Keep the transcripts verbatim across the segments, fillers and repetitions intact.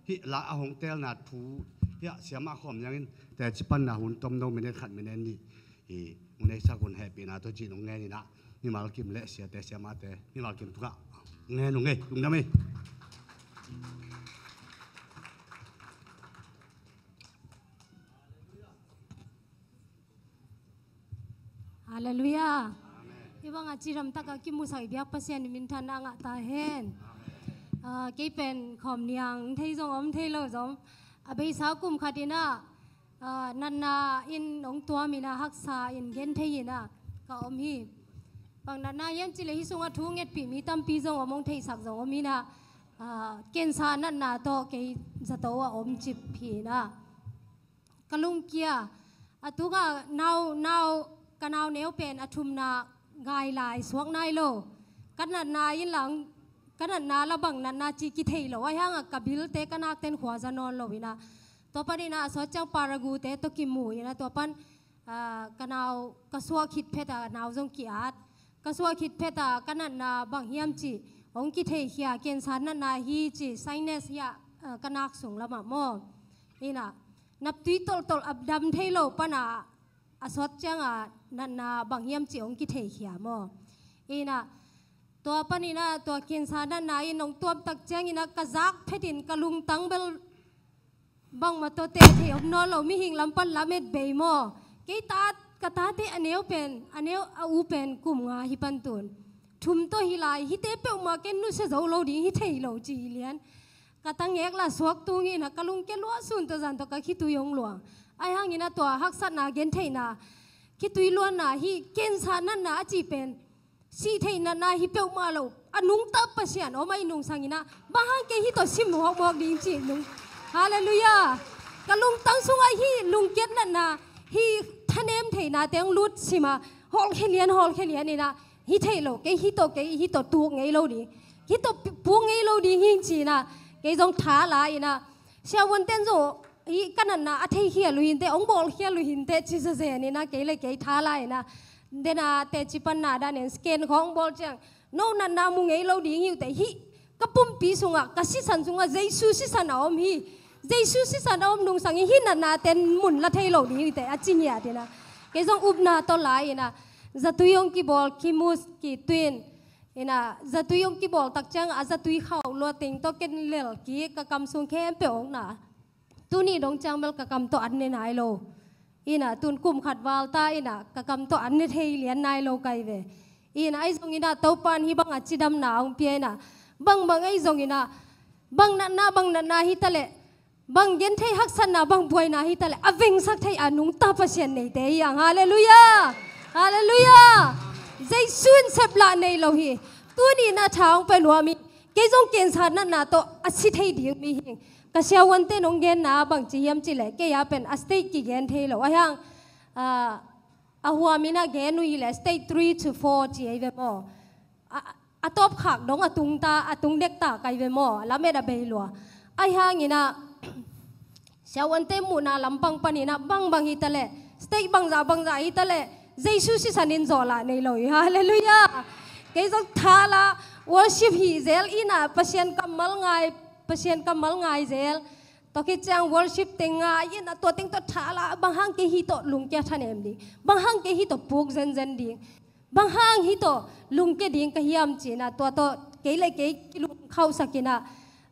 Hih la a hong telna thu, hih a siamah khawm niangin teci panna hun tomno minute khat minute nih hi, hong neisak un hehpihna tawh cih nong ngen inah, mimal kim le siate siamahte mimal kim tungah ngen uh ngei, lungdam ei. Halleluiah. Hih bangah cidam takah kimusak i biak Pasian i minthanna a ngah ta hen. Ah, kei pen khawm niang thei zong om thei lo zong, a beisa kum khat inah, ah, natna in hong tuam inah haksa in gen thei inah ka om hi. Bang natna hiam cileh hih sungah thu ngetpih mi tampi zong om, hong theihsak zong om inah, ah, kensa natna tawh kei zato a om cip hi inah ka lungkia. A tungah nau, nau, ka nau neu pen a thumna ngai lai suak nai lo. Ka natna in lang, ka natna la bang natna ci kithei lo. Ahi hangah ka bilte ka nakten khua za nawn lo inah, tua pan inah a sawt ciang paragute tawh kimu inah, tua pan, ah, ka nau ka suak khit phet a nau zong ki-at. Ka suak khit phet a ka natna bang hiam cih hong kitheikhia, kensa natna hi cih sinus hi a, ah, ka nak sung lamah maw. Inah naptui tolhtolh a dam thei lo panah a sawt ciangah natna bang hiam cih hong kitheikhia maw. Inah tua pan inah tua kensa natna in hong tuamtak ciang inah ka zak phetin ka lungtang bel bangmah tawh teh thei om nawn lo, mihing lam pan lamet bei maw. Kei ta, ka tate a neu pen, a neu a u pen kum nga hi pan tun. Thum tawh hi lai, hihte peuhmah ken nusia zo lo ding hi thei lo ci lian. Ka tangek la suak tung inah ka lungkia luah sun tawh zan tawh ka khitui hong luang. Ahi hang inah tua haksatna gentheihna, khitui luanna, hih kensa natna a cih pen sih theih natna hi peuhmah lo, a nungta Pasian om a i nungsang inah, bang hang kei hih tawh sim mawkmawk ding cih nung. Halleluiah. Ka lungtang sungah hih lungkiat natna, hih thanem theihna teng lut sima, hawlkhia lian, hawlkhia lian inah, hi thei lo, kei hih tawh, kei hih tawh tuk ngei lo ding, hih tawh pi-, puk ngei lo ding hi ci inah, kei zong tha la inah, siavuanten zong hih ka natna a theikhial uh hinteh, hong bawlkhial uh hinteh ci zazen inah, kei le kei tha la inah, dena teci panna danin scan khawng bawl ciang, no natna mu ngei lo ding hi uh teh, hih ka pumpi sungah, ka sisan sungah Jesu sisan a om hi. Jesu sisan a om nungsang in hih natna ten mun la thei lo ding hi uh teh, a ci ngiat inah, kei zong upna tawh la inah, zatui hong kibawl, kimus, kituin inah, zatui hong kibawl tak ciang a zatui khauh luat teng tawh ken lel kik, ka kam sung khempeuh hong na. Tuni dong ciang bel ka kam tawh an ne nai lo. Inah tun kum khat val ta inah ka kam tawh an ne thei lian nai lo kai ve. Inah ahi zong inah Topan hih bangah cidamna hong pia inah, bangbang ahi zong inah, bang natna, bang natna hi taleh, bang genthei haksatna, bang buaina hi taleh, a vengsak thei a nungta Pasian neite hi hang. Halleluiah. Halleluiah. Jesu in seplah nei lo hi. Tuni inah tha hong pe nuam hi. Kei zong kensa natna tawh a si thei ding mi hi. Ka siavuante nong genna bangci hiam cileh, kei a pen a state kigen thei lo. Ahi hang, ah, a huam inah gen uh hileh state three to four ci ei ve maw. A, a tawpkhak dong a tung ta, a tung dek ta kai ve maw. Lamet a bei lua. Ahi hang inah siavuante muhna lampang pan inah bangbang hi taleh, state bangzah bangzah hi taleh, Jesu sisan in zawhlah nei lo hi. Halleluiah. Kei zong tha la, worship hi zel inah, Pasian kammal ngai, Pasian kammal ngai zel. Tua khit ciang worship teng ngai inah, tua teng tawh tha la, bang hang kei hih tawh lungkia thanem ding, bang hang kei hih tawh puk zenzen ding, bang hang hih tawh lungkia ding ka hiam ci inah, tua tawh kei le kei kilungkhauhsak inah,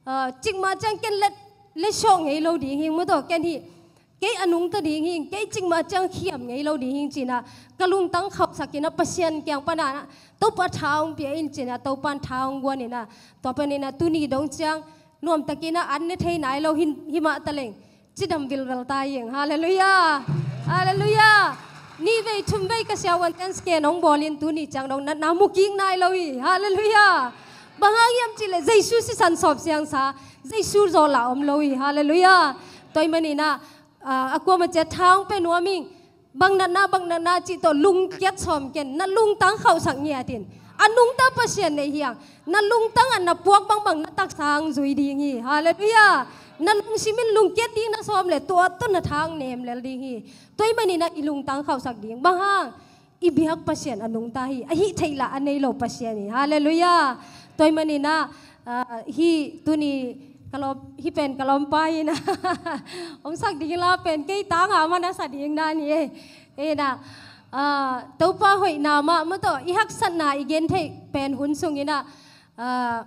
ah, cikmah ciang ken le, le sawh ngei lo ding hi, mu tawh ken hih, kei a nungta ding hi, kei cikmah ciang khiam ngei lo ding hi ci inah, ka lungtang khauhsak inah, Pasian kiang pan inah, Topa tha hong pia in ci inah, Topan tha hong guan inah, tua pan inah tuni dong ciang nuamtak inah an ne thei nai lo hi, hi mah taleng, cidam vilvel ta hi hang. Halleluiah. Halleluiah. Nih vei, thum vei ka siavuanten scan hong bawl in tuni ciang dong natna mu kik nai lo hi. Halleluiah. Bang hang hiam cileh, Jesu sisan sawp siangsa, Jesu zawhlah om lo hi. Halleluiah. Tua ahih man inah, ah, a kuamah ciat tha hong pe nuam ing. Bang natna, bang natna cih tawh lungkiat sawm ken, na lungtang khauhsak ngiat in. A nungta Pasian nei hi hang. Na lungtang ah na puak bangbang na taksa hong zui ding hi. Halleluiah. Na lungsim in lungkiat ding na sawm leh, tua tawh na tha hong nem lel ding hi. Tua ahih man inah i lungtang khauhsak ding. Bang hang, i biak Pasian a nungta hi. A hih theih lah a nei lo Pasian hi. Halleluiah. Tua ahih man inah, ah, hih tuni Ka lawm, hih pen ka lawmpa hi na. Hong sak ding la pen kei tanga man a sa ding dan hi e. Hi na, ah, Topa hoihna mah maw tawh, i haksatna i gentheih pen hun sung hi na, ah,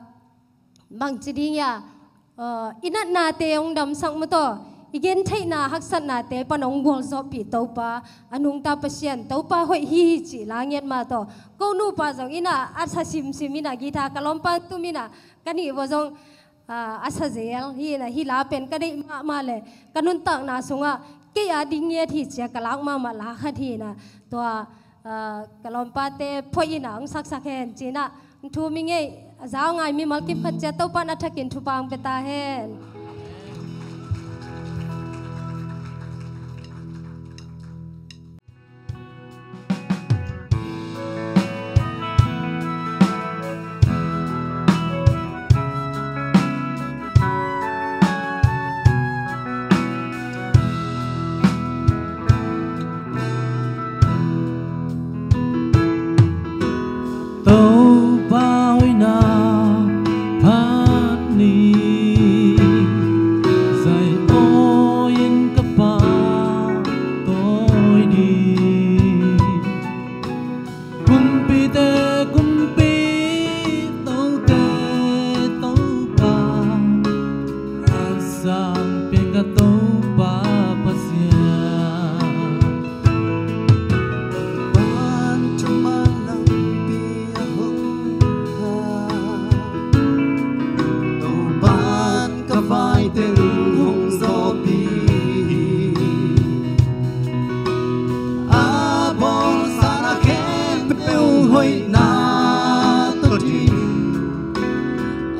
bangci ding hia, ah, i natnate hong damsak maw tawh, i gentheihna haksatnate pan hong gualzawhpih Topa, a nungta Pasian, Topa hoih hi hi cih la ngiat mah tawh. Ko nupa zong hi na, a sa simsim hi na, guitar ka lawmpa tum hi na, ka nih vua zong, ah, a sa zel hi na, hih la pen ka deih mahmah le ka nuntakna sungah kei a ding ngiat hi cia ka lak mahmah la khat hi na. Tua, ah, ka lawmpate phoih in a hong saksak hen ci na, thu mi ngei a zau ngai mimal kip khat cia Topa in a thakin thupha hong pia ta hen. Topa hoihna phat ni, zai awi in ka pahtawi ding. Kumpite kumpi, tote Topa, a sang piang ka Topa Pasian. Topan thumah lampi a hong kha, Topan ka vai teng hong zawhpih hi. A bawlsa na khempeuh hoihna tawh ding,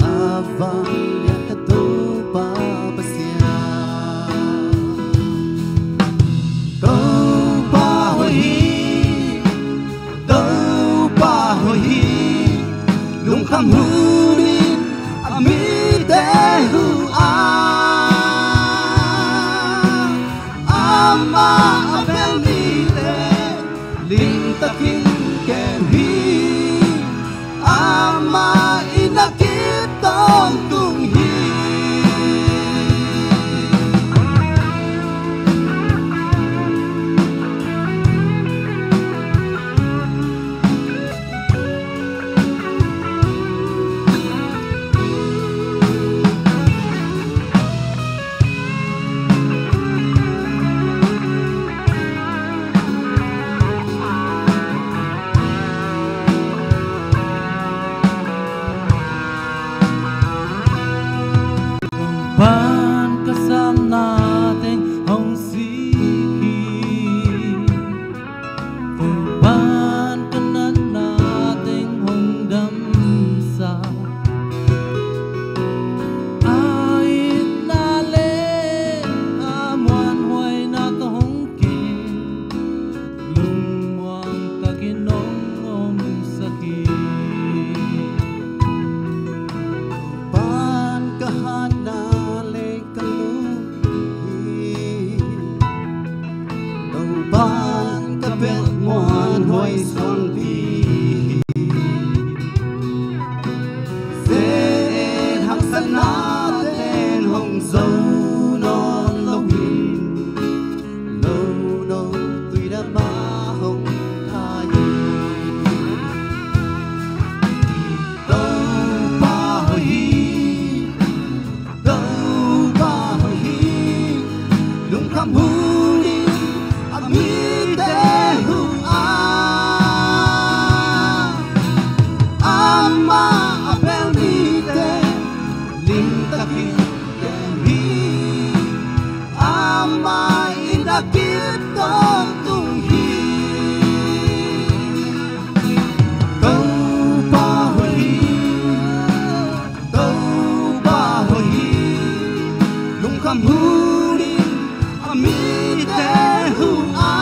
a vanglian ka Topa Pasian. Topa hoih hi, Topa hoih hi, lungkham hunin a mite huh a, amah a bel mite limtakin kem hi, amah in a kip tawntung hi. Topan ka samna teng hong sik hi. Topan ka natna teng hong damsak. A itna le a muanhuaina tawh hong kem, lungmuang takin hong omsak hi. Topan ka hatna le ka lung hi. Topan ka belh muanhuai suangpi hi. Ze-et haksatna ten hong zo nawn lo hi. Nono tuidam ah hong khai hi. Topa hoih hi, Topa hoih hi, lungkham hunin a mite huh a, amah a bel mite limtakin kem hi, amah in a kip tawntung hi. Topa hoih hi, Topa hoih hi, lungkham hunin a mite huh a,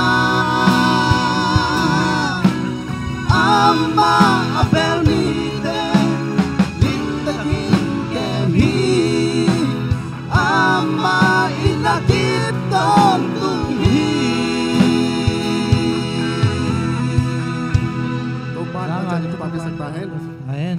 amah a bel mite limtakin kem hi, amah in a kip tawntung hi. Topa in a mangca in thupha piasak ta hen. Amen.